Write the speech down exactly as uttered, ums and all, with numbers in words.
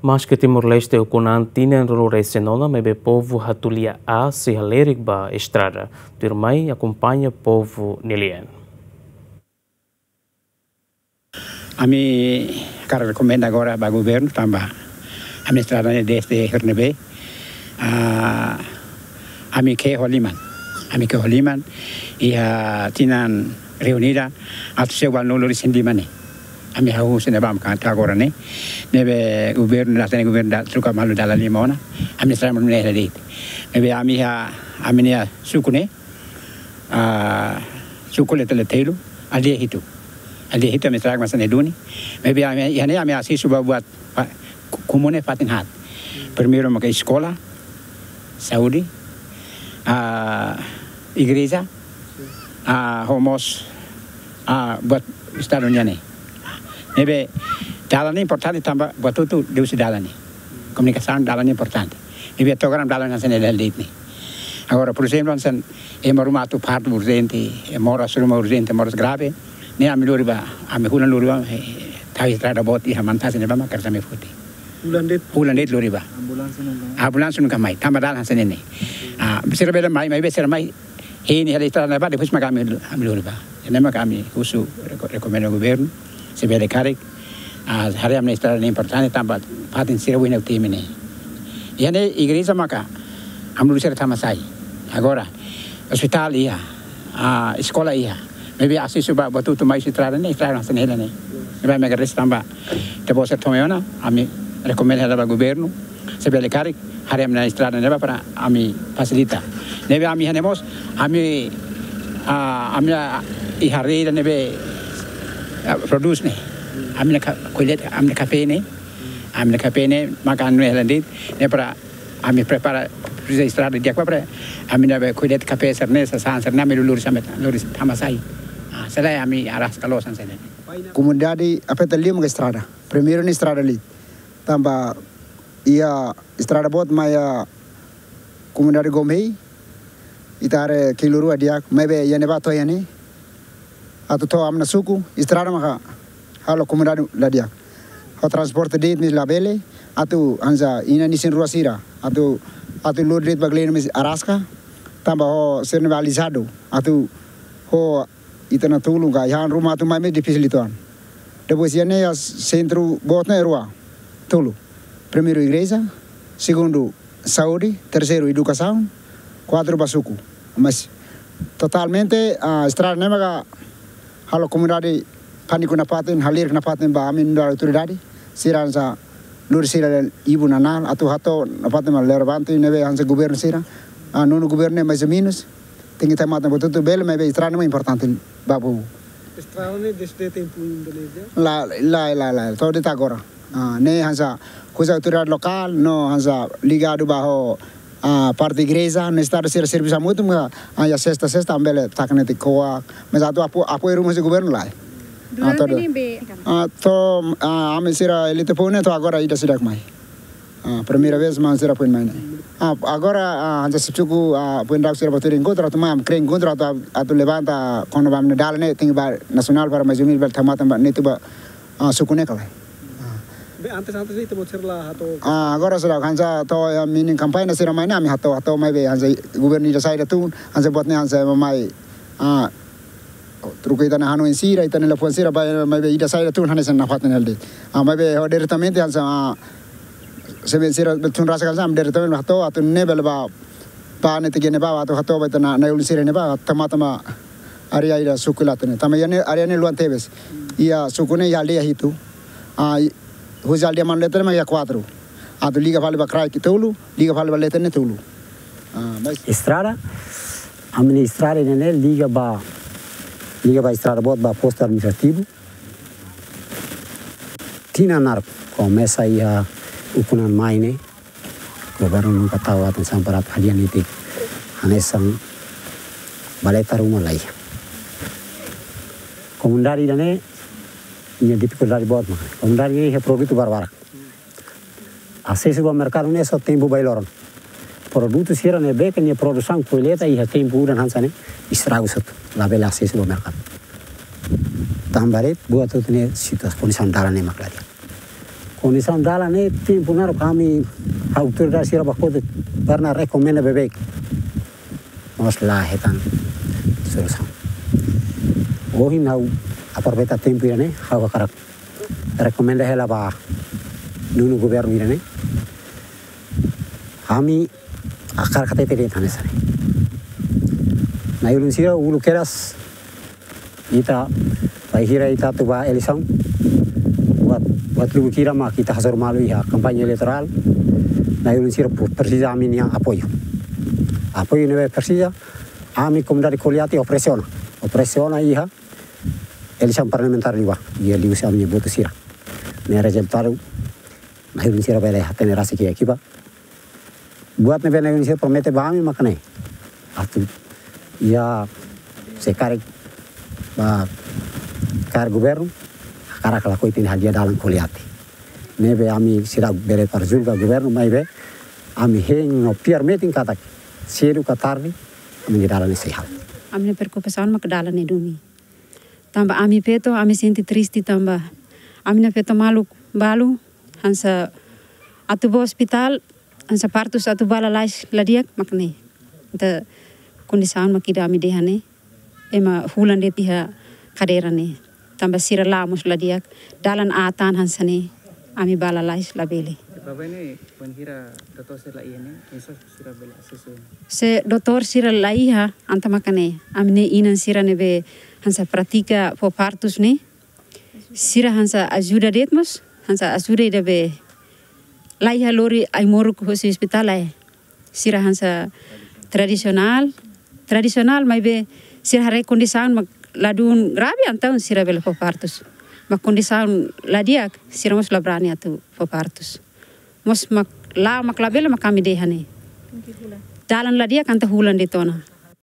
Maske Timor-Leste ukun an tinan ruanulu-resin-neen ona, maibé povu Hatulia A sei halerik ba estrada. Tuirmai akompaña povu nia lian. Ami hakarak rekomenda agora ba governu tanba ami estrada ne'e desde Hernebe. Ah, ami ke'e ho liman. Ami ke'e ho liman iha tinan reunida atu sei ual nulu-resin-lima ne'e. Ami hahú husi ne'ebá maka to'o agora ne'e. Ne'ebé governu la tene governu da truka malu dala lima ona. Ami estrada malu ne'e de'it. Ne'ebé ami iha ami-nia suku ne'e. Ah, suku Leta Letelu, aldeia hitu. Aldeia hitu ami estrada mak hanesan ne'e duni. Maibé ami, iha ne'e ami asesu ba buat, pa-, ku-, komune fatin haat. Primeiru maka eskola, saúde, ah, igreja, ah, ho mós, ah, buat estadu nian ne'e. Ne'ebé dalan ne'e importante tanba buat hotu liuhusi dalan ne'e. Komunikasaun dalan ne'e importante. Ne'ebé to'o agora dalan hanesan ne'e de'it ne'e. Agora, por ezemplu, hanesan ema ruma atu partu urjente, ema moras ruma urjente, moras grave, ne'e ami lori ba, ami hulan lori ba, eh, tau estrada boot iha Mantasi ne'ebá mak hanesan ne'e foti. Hulan de'it? Hulan de'it lori ba. Ambulánsia nunka mai? Ambulánsia nunka mai, tanba dalan hanesan ne'e ne'e. Ah, sira bele mai, maibé sira mai, hein hela estrada ne'ebá, depois maka ami, ami lori ba. Ne'e maka ami husu reko-, rekomenda governu, se bele karik, ah, haree ami-nia estrada ne'e importante, tanba fatin sira oin ne'e temi ne'e. Iha ne'e igreja maka, ami lori sira tama sai. Agora, ospitál iha, ah, eskola iha. Maibé asesu ba, ba tutu mai estrada ne'e, estrada hanesan ne'e hela ne'e. Ne'ebé ami agradese tanba, ita-boot sira tama ona, ami rekomenda hela ba governu, se bele karik, haree ami-nia estrada ne'ebá para ami fasilita. Ne'ebé ami iha ne'e mós, ami, ah, ami, ah, iha rei ida ne'ebé, ah, prodús ne'e. Ami-nia ka-, ko'alia de'it, ami-nia kafé ne'e. Ami-nia kafé ne'e, maka ami hela de'it, ne'e para ami prepara, presiza estrada di'ak para ami ne'ebé ko'alia de'it kafé sira-ne'e, sasán sira-ne'e, ami lori sampai, lori tama sai. Ah, selae ami araska loos hanesan ne'e. Komunidade afeta liu mak estrada. Primeiru ne'e estrada liu. Tanba iha estrada boot mai iha komunidade Gomei, ita haree kilu rua di'ak, maibé iha ne'ebá to'o iha ne'e. Atu to'o ami-nia suku, estrada maka halo komunidade la di'ak. Ho transporte de'it mós labele, atu hanesan inan-isin rua sira, atu, atu lori de'it ba Gleno mós araska, tanba ho sira-ne'e balizadu, atu ho ita-nia tulun ka, iha ruma atu mai mós difisil uitoan. Depois iha ne'e iha sentru boot ne'e rua, tolu. Primeiru igreja, segundu saúde, terseiru edukasaun, kuatru ba suku. Mas totalmente, ah, estrada ne'e maka halo komunidade pániku nafatin, halerik nafatin ba ami nu'udar autoridade. Sira hanesan lori sira ibu nanál, atu hato'o nafatin mak relevante, ne'ebé hanesan governu sira. Ah, nonu governu ne'e mais ou menos. Tenke tau matan buat hotu bele, maibé estrada ne'e importante ba povu. Estrada ne'e desde tempu Indonézia? Lae, lae, lae, lae. To'o de'it agora. Ah, ne'e hanesan husi autoridade lokál, no hanesan ligadu ba ho, ah, parte igreja, no estadu sira servisu hamutuk, ah, iha sesta, sesta, ami bele taka netik koa, mas atu apo-, apoiu ruma husi governu lae. Ah, durante to'o ne'ebé? Ah, to'o, ah, ami sira elite povu ne'e to'o agora ida seidauk mai. Ah, primeira vez mak sira foin mai ne'e. Ah, agora, ah, hanesan suku, ah, foin daudauk sira bá tuir enkontru, atu mai, ami kree enkontru, atu, atu levanta, kona-ba ami-nia dalan ne'e, tenke ba nasionál para mais ou menos bele tau matan ba netik ba, ah, suku ne'e ka lae. Ah. Be antes, antes ne'e ita-boot sira la hato'o? Ah, agora sira hanesan to'o iha mini kampaña sira mai ne'e, ami hato'o, hato'o maibé hanesan governu ida saida tun, hanesan buat ne'e hanesan mai, ah, troka ita-nia hanoin sira, ita-nia liafuan sira, ba, maibé ida saida tun hanesan nafatin hela de'it. Ah, maibé ho diretamente hanesan, ah, se bele sira bele tun rasik hanesan, diretamente hato'o, atu ne'e bele ba, ba netik iha ne'ebá, atu hato'o ba ita-nia, na'i-ulun sira ne'ebá, tau matan ba área ida suku Ilata ne'e. Tanba iha ne'e, área ne'e luan tebes. Iha suku ne'e iha aldeia hitu. Ah, i-, husi aldeia Manu Leten ne'e mak iha kuatru. Atu liga fali ba Kraik tolu, liga fali ba Leten ne'e tolu. Ah, mas estrada, ami-nia estrada ne'e liga ba, liga ba estrada boot ba postu administrativu. Tinan naruk, komesa iha ukun an mai ne'e, governu nunka tau atensaun para atu hadi'a netik hanesan baleta ruma laiha. Komunidade ida-ne'e, nia difikuldade boot mak. Komunidade ne'e iha produtu barbarak. Asesu ba merkadu ne'e só tempu bailoro. Produtu sira ne'ebé ke nia produsaun kolleita iha tempu udan hanesan ne'e, estragu satu, labele asesu ba merkadu. Tanba de'it, buat hotu ne'e situasaun kondisaun dalan ne'e mak la di'ak. Kondisaun dalan ne'e tempu naruk ami, autoridade sira ba kotuk, pernah rekomenda beibeik. Mas la hetan solusaun. Ohin ha'u aproveita tempu ida-ne'e, ha'u hakarak rekomenda hela ba nonu governu ida-ne'e. Ami hakarak hatete de'it hanesan ne'e. Na'i-ulun sira, uluk kedas ita, bainhira ita atu bá eleisaun, buat, buat lubuk hira mak ita hasoru malu iha kampaña eleitorál, na'i-ulun sira pu-, presiza ami-nia apoiu. Apoiu ne'ebé presiza, ami komunidade Koliati opresiona. Opresiona iha eleisaun parlamentár liubá, iha liuhusi ami-nia votu sira. Ne'e rezultadu, na'i-ulun sira bele hatene rasik iha kiba. Buat ne'ebé na'i-ulun sira promete ba ami mak ne'e. Atu, iha, se karik, ba, karik governu, hakarak lakohi ita-nia hadi'a dalan Koliati. Ne'ebé ami seidauk bele para julga governu, maibé ami hein no fiar metin katak, sedu ka tarde, ami-nia dalan ne'e sei halo. Ami-nia preokupasaun mak dalan ne'e duni. Tanba ami feto, ami sente triste tanba ami-nia feto maluk balu, hanesan atu bá ospitál, hanesan partus atu bá lalais la di'ak mak ne'e. Entaun kondisaun mak ida ami dehan ne'e, ema hulan de'it iha kadeira ne'e. Tanba sira la'o mós la di'ak, dalan aat tan hanesan ne'e, ami bá lalais labele. Baibain ne'e, bainhira doutór sira la iha ne'e, oinsá sira bele asesu? Se doutór sira la iha, entaun maka ne'e, ami-nia inan sira ne'ebé hanesan pratika fó partus ne'e, sira hanesan ajuda de'it mós, hanesan ajuda ida be la iha lori ai-moruk husi ospitál lae. Sira hanesan tradisionál, tradisionál maibé sira haree kondisaun mak ladún grave entaun sira bele fó partus. Mak kondisaun la di'ak, sira mós la brani atu fó partus. Mós mak la, mak labele mak ami dehan ne'e. Dalan la di'ak entaun hulan de'it ona.